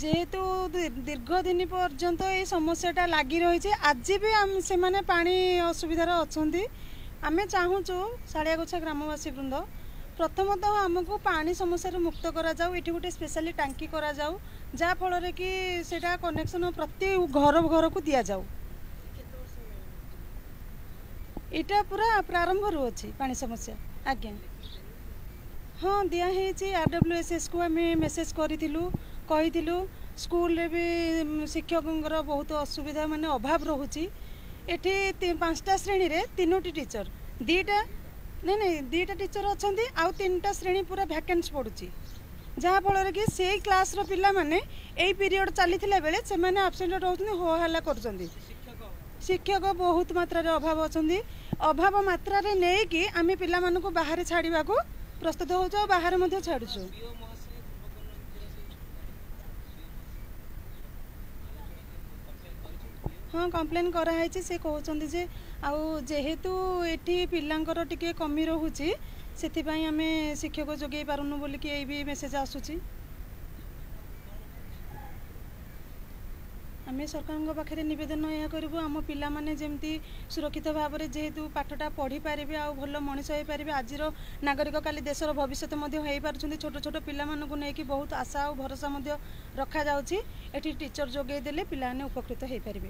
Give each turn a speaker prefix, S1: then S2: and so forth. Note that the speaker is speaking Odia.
S1: ଯେହେତୁ ଦୀର୍ଘ ଦିନ ପର୍ଯ୍ୟନ୍ତ ଏଇ ସମସ୍ୟାଟା ଲାଗି ରହିଛି, ଆଜି ବି ସେମାନେ ପାଣି ଅସୁବିଧାରେ ଅଛନ୍ତି। ଆମେ ଚାହୁଁଛୁ ଶାଳିଆଗୋଛା ଗ୍ରାମବାସୀ ବୃନ୍ଦ, ପ୍ରଥମତଃ ଆମକୁ ପାଣି ସମସ୍ୟାରୁ ମୁକ୍ତ କରାଯାଉ। ଏଠି ଗୋଟେ ସ୍ପେଶାଲି ଟାଙ୍କି କରାଯାଉ, ଯାହାଫଳରେ କି ସେଇଟା କନେକ୍ସନ୍ ପ୍ରତି ଘର ଘରକୁ ଦିଆଯାଉ। ଏଇଟା ପୁରା ପ୍ରାରମ୍ଭରୁ ଅଛି ପାଣି ସମସ୍ୟା ଆଜ୍ଞା। ହଁ, ଦିଆହେଇଛି। RWSSକୁ ଆମେ ମେସେଜ୍ କରିଥିଲୁ, କହିଥିଲୁ। ସ୍କୁଲରେ ବି ଶିକ୍ଷକଙ୍କର ବହୁତ ଅସୁବିଧା, ମାନେ ଅଭାବ ରହୁଛି। ଏଠି 5ଟା ଶ୍ରେଣୀରେ 3ଟି ଟିଚର, 2ଟା, ନାଇଁ ନାଇଁ, 2ଟା ଟିଚର ଅଛନ୍ତି ଆଉ 3ଟା ଶ୍ରେଣୀ ପୁରା ଭ୍ୟାକେନ୍ସ ପଡ଼ୁଛି, ଯାହାଫଳରେ କି ସେଇ କ୍ଲାସ୍ର ପିଲାମାନେ ଏଇ ପିରିୟଡ଼ ଚାଲିଥିଲା ବେଳେ ସେମାନେ ଆବସେଣ୍ଟ ରହୁଛନ୍ତି, ହୋ ହାଲ୍ଲା କରୁଛନ୍ତି। ଶିକ୍ଷକ ବହୁତ ମାତ୍ରାରେ ଅଭାବ ଅଛନ୍ତି। ଅଭାବ ମାତ୍ରାରେ ନେଇକି ଆମେ ପିଲାମାନଙ୍କୁ ବାହାରେ ଛାଡ଼ିବାକୁ ପ୍ରସ୍ତୁତ ହେଉଛୁ ଆଉ ବାହାରେ ମଧ୍ୟ ଛାଡ଼ୁଛୁ। ହଁ, କମ୍ପ୍ଲେନ୍ କରାହେଇଛି। ସେ କହୁଛନ୍ତି ଯେ ଆଉ ଯେହେତୁ ଏଠି ପିଲାଙ୍କର ଟିକେ କମି ରହୁଛି, ସେଥିପାଇଁ ଆମେ ଶିକ୍ଷକ ଯୋଗାଇ ପାରୁନୁ ବୋଲିକି ଏଇ ବି ମେସେଜ୍ ଆସୁଛି। ଆମେ ସରକାରଙ୍କ ପାଖରେ ନିବେଦନ ଏହା କରିବୁ, ଆମ ପିଲାମାନେ ଯେମିତି ସୁରକ୍ଷିତ ଭାବରେ ଯେହେତୁ ପାଠଟା ପଢ଼ିପାରିବେ ଆଉ ଭଲ ମଣିଷ ହେଇପାରିବେ। ଆଜିର ନାଗରିକ କାଲି ଦେଶର ଭବିଷ୍ୟତ ମଧ୍ୟ ହେଇପାରୁଛନ୍ତି। ଛୋଟ ଛୋଟ ପିଲାମାନଙ୍କୁ ନେଇକି ବହୁତ ଆଶା ଆଉ ଭରସା ମଧ୍ୟ ରଖାଯାଉଛି। ଏଠି ଟିଚର ଯୋଗାଇ ଦେଲେ ପିଲାମାନେ ଉପକୃତ ହେଇପାରିବେ।